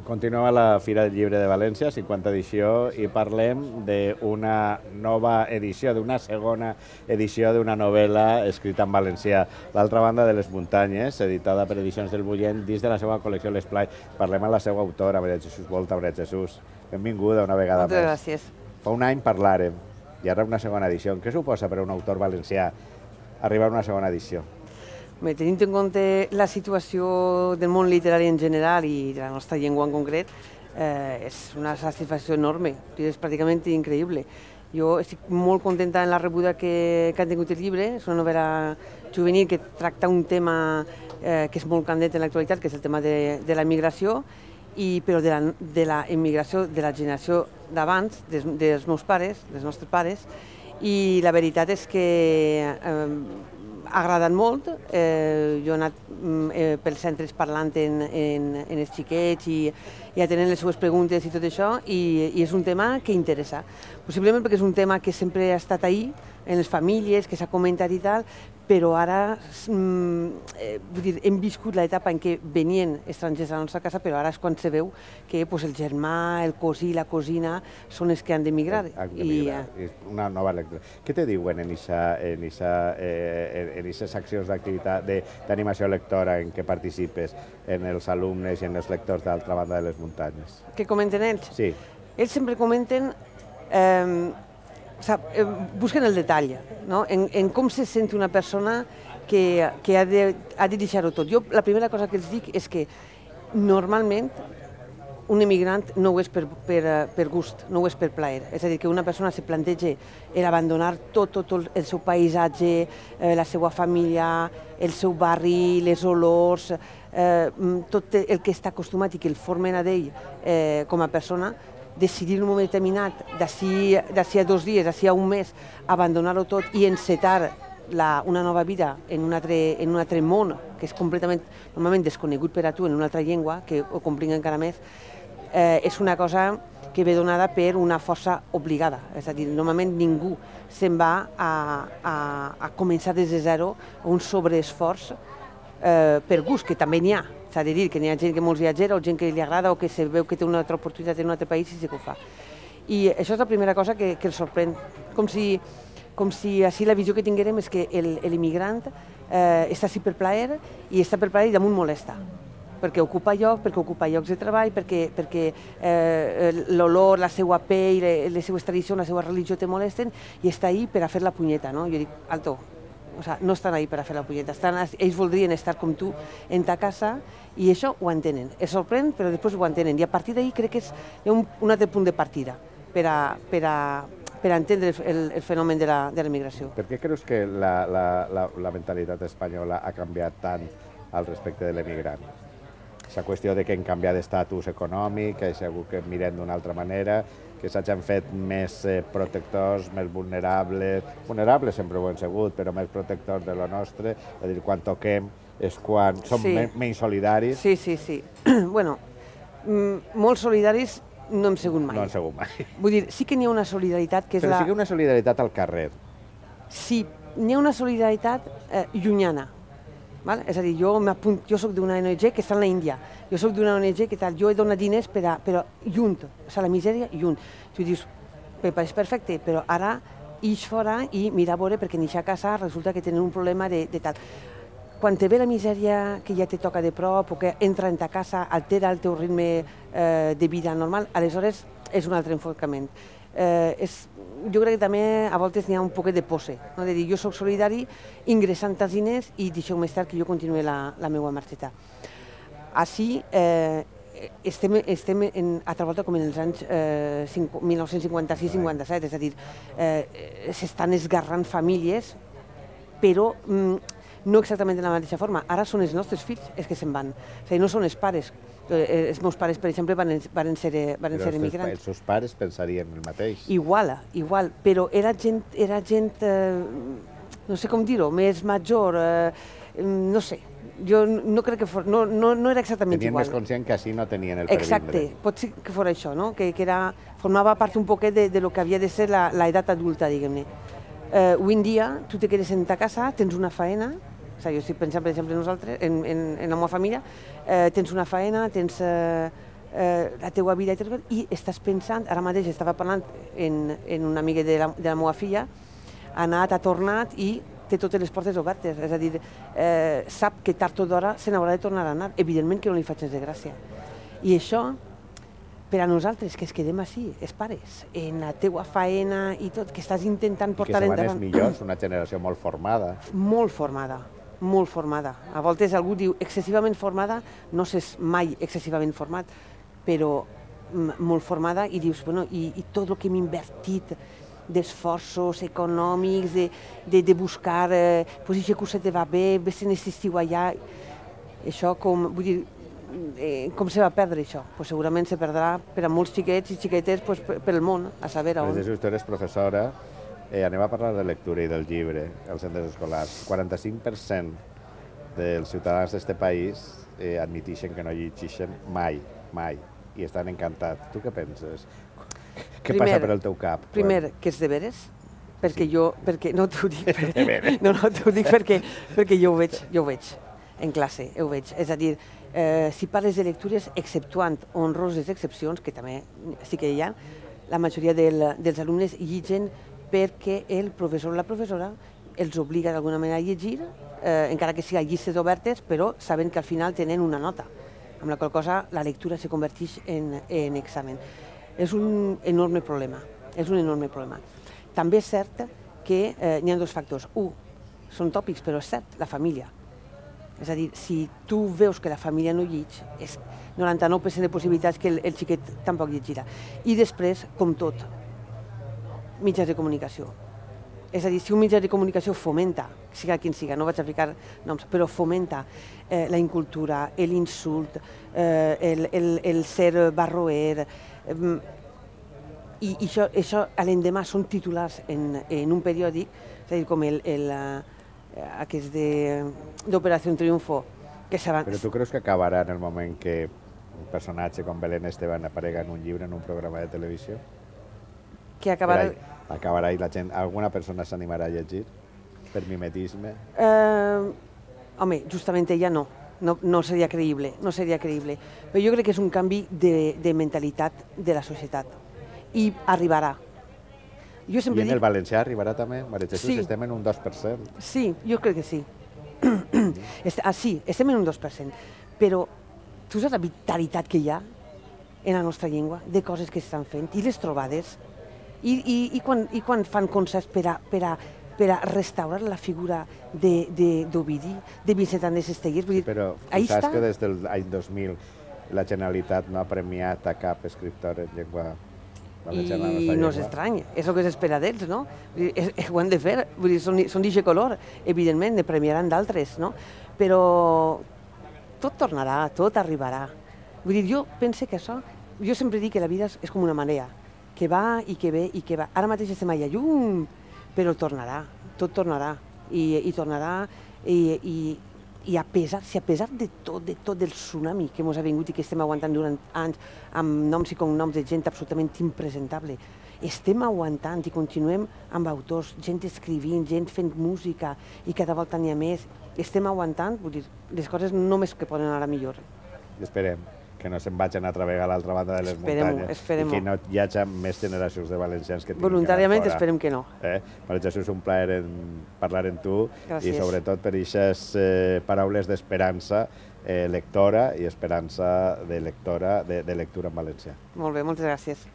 Continuem a la Fira del Llibre de València, 50 edició, i parlem d'una nova edició, d'una segona edició d'una novel·la escrita en valencià, L'altra banda de les muntanyes, editada per Edicions del Bullent, dins de la seva col·lecció L'Esplai. Parlem amb la seva autora, Maria Jesús Volta. Maria Jesús, benvinguda una vegada més. Moltes gràcies. Fa un any parlàrem, i ara una segona edició. Què suposa per a un autor valencià arribar a una segona edició? Tenint en compte la situació del món literari en general i de la nostra llengua en concret, és una satisfacció enorme, és pràcticament increïble. Jo estic molt contenta en la rebuda que ha tingut el llibre. És una novel·la juvenil que tracta un tema que és molt candent en l'actualitat, que és el tema de la immigració, però de la immigració de la generació d'abans, dels meus pares, dels nostres pares, i la veritat és que ha agradat molt. Jo he anat pels centres parlant en els xiquets i atenent les seues preguntes i tot això, i és un tema que interessa. Possiblement perquè és un tema que sempre ha estat ahí, en les famílies, que s'ha comentat i tal, però ara hem viscut l'etapa en què venien estrangers a la nostra casa, però ara és quan se veu que el germà, el cosí, la cosina són els que han d'emigrar. Una nova lectura. Què te diuen en aquestes accions d'activitat d'animació lectora en què participes, en els alumnes i en els lectors d'Altra banda de les muntanyes? Què comenten ells? Sí. Ells sempre comenten, busquen el detall, en com se sent una persona que ha de deixar-ho tot. Jo la primera cosa que els dic és que normalment un emigrant no ho és per gust, no ho és per plaer. És a dir, que una persona se planteja abandonar tot el seu paisatge, la seva família, el seu barri, les olors, tot el que està acostumat i que el formen a ell com a persona, decidir en un moment determinat, d'ací a 2 dies, d'ací a un mes, abandonar-ho tot i encetar una nova vida en un altre món, que és completament, normalment desconegut per a tu, en una altra llengua, que ho complica encara més, és una cosa que ve donada per una força obligada. És a dir, normalment ningú se'n va a començar des de zero un sobreesforç per gust, que també n'hi ha. S'ha de dir que n'hi ha gent que molts viatgera o gent que li agrada o que se veu que té una altra oportunitat en un altre país i sí que ho fa. I això és la primera cosa que els sorprèn. Com si així la visió que tinguérem és que l'immigrant està així per plaer i està per plaer i damunt molesta. Perquè ocupa lloc, perquè ocupa llocs de treball, perquè l'olor, la seva pell, les seues tradicions, la seva religió te molesten i està ahí per a fer la punyeta. Jo dic, alto, no estan ahí per a fer la punyeta, ells voldrien estar com tu en ta casa i això ho entenen. Es sorprèn, però després ho entenen. I a partir d'ahí crec que hi ha un altre punt de partida per a entendre el fenomen de la migració. Per què creus que la mentalitat espanyola ha canviat tant al respecte de l'emigrant? La qüestió de que hem canviat d'estatus econòmic, que segur que mirem d'una altra manera, que s'hagin fet més protectors, més vulnerables sempre ho hem sigut, però més protectors de lo nostre, és a dir, quan toquem és quan som menys solidaris. Sí. Bueno, molt solidaris no hem sigut mai. No hem sigut mai. Vull dir, sí que n'hi ha una solidaritat que és Però sí que una solidaritat al carrer. Sí, n'hi ha una solidaritat llunyana. És a dir, jo soc d'una ONG que està en l'Índia, jo soc d'una ONG que tal, jo he donat diners però lluny, la misèria lluny. Tu dius, és perfecte, però ara ix fora i mira a veure perquè en eixa casa resulta que tenen un problema de tal. Quan te ve la misèria que ja te toca de prop o que entra en ta casa, altera el teu ritme de vida normal, aleshores és un altre enfocament. Jo crec que també a voltes n'hi ha un poquet de pose, de dir, jo soc solidari ingressant els diners i deixeu més tard que jo continuï la meva marxeta. Així estem altra volta com en els anys 1956-57, és a dir, s'estan esgarrant famílies, però no exactament de la mateixa forma. Ara són els nostres fills els que se'n van, és a dir, no són els pares. Els meus pares, per exemple, van ser emigrants. Els seus pares pensarien el mateix. Igual, però era gent, no sé com dir-ho, més major, no sé. Jo no crec que fos, no era exactament igual. Tenien més conscient que així no tenien el per vindre. Exacte, pot ser que fos això, que formava part un poquet de lo que havia de ser l'edat adulta, diguem-ne. Avui en dia, tu te quedes en ta casa, tens una faena, jo estic pensant, per exemple, nosaltres, en la meva família, tens una faena, tens la teua vida i estàs pensant, ara mateix estava parlant en una amiga de la meva filla, ha anat, ha tornat i té totes les portes obertes, és a dir, sap que tard o d'hora se n'haurà de tornar a anar, evidentment que no li faig gens de gràcia. I això, per a nosaltres, que es quedem així, els pares, en la teua faena i tot, que estàs intentant portar endavant... I que se van els millors, una generació molt formada. Molt formada, molt formada. A voltes algú diu excessivament formada, no s'és mai excessivament format, però molt formada i dius, bueno, i tot el que hem invertit d'esforços econòmics, de buscar, pues aquesta cosa te va bé, ves en aquest estiu allà, això com, vull dir, com se va perdre això? Pues segurament se perdrà per a molts xiquets i xiquetes pel món, a saber on. Jesús, tu eres professora, anem a parlar de lectura i del llibre als centres escolars. 45% dels ciutadans d'aquest país admiteixen que no llegeixen mai, mai, i estan encantats. Tu què penses? Què passa per el teu cap? Primer, que és deberes, perquè jo, no t'ho dic, t'ho dic perquè jo ho veig en classe, ho veig. És a dir, si parles de lectures, exceptuant honroses excepcions, que també sí que hi ha, la majoria dels alumnes llegeixen perquè el professor o la professora els obliga d'alguna manera a llegir, encara que sigui a llistes obertes, però sabent que al final tenen una nota, amb la qual cosa la lectura se converteix en examen. És un enorme problema, és un enorme problema. També és cert que n'hi ha dos factors. Un, són tòpics, però és cert, la família. És a dir, si tu veus que la família no llegeix, és 99% de possibilitats que el xiquet tampoc llegirà. I després, com tot, mitjans de comunicació. És a dir, si un mitjà de comunicació fomenta, siga quin siga, no vaig a ficar noms, però fomenta la incultura, l'insult, el ser barroer, i això a l'endemà són titulars en un periòdic, és a dir, com aquest d'Operació Triunfo. Però tu creus que acabarà en el moment que un personatge com Belén Esteban aparega en un llibre, en un programa de televisió? Que acabarà... Acabarà i la gent, alguna persona s'animarà a llegir per mimetisme? Home, justament ella no. No seria creïble, no seria creïble. Però jo crec que és un canvi de mentalitat de la societat. I arribarà. I en el valencià arribarà també? Maria Jesús, estem en un 2%. Sí, jo crec que sí. Sí, estem en un 2%. Però tu saps la vitalitat que hi ha en la nostra llengua, de coses que s'estan fent, i les trobades, i quan fan concerts per a restaurar la figura d'Ovidi, de Vicent Andrés Estellers. Però saps que des de l'any 2000 la Generalitat no ha premiat a cap escriptor en llengua valenciana? I no és estrany, és el que s'espera d'ells, no? Ho han de fer, són d'aquest color, evidentment, ne premiaran d'altres, no? Però tot tornarà, tot arribarà. Vull dir, jo penso que això, jo sempre dic que la vida és com una marea, que va i que ve i que va. Ara mateix estem allà llum, però tornarà, tot tornarà, i tornarà, i a pesar de tot del tsunami que ens ha vingut i que estem aguantant durant anys, amb noms i cognoms de gent absolutament impresentable, estem aguantant i continuem amb autors, gent escrivint, gent fent música, i cada volta n'hi ha més. Estem aguantant, vull dir, les coses només que poden anar millor. Esperem que no se'n vagin a travegar a l'altra banda de les muntanyes i que no hi hagi més generacions de valencians que tinguin que anar fora. Voluntàriament esperem que no. Maria Jesús, un plaer parlar amb tu i sobretot per aquestes paraules d'esperança lectora i esperança de lectura en valencià. Molt bé, moltes gràcies.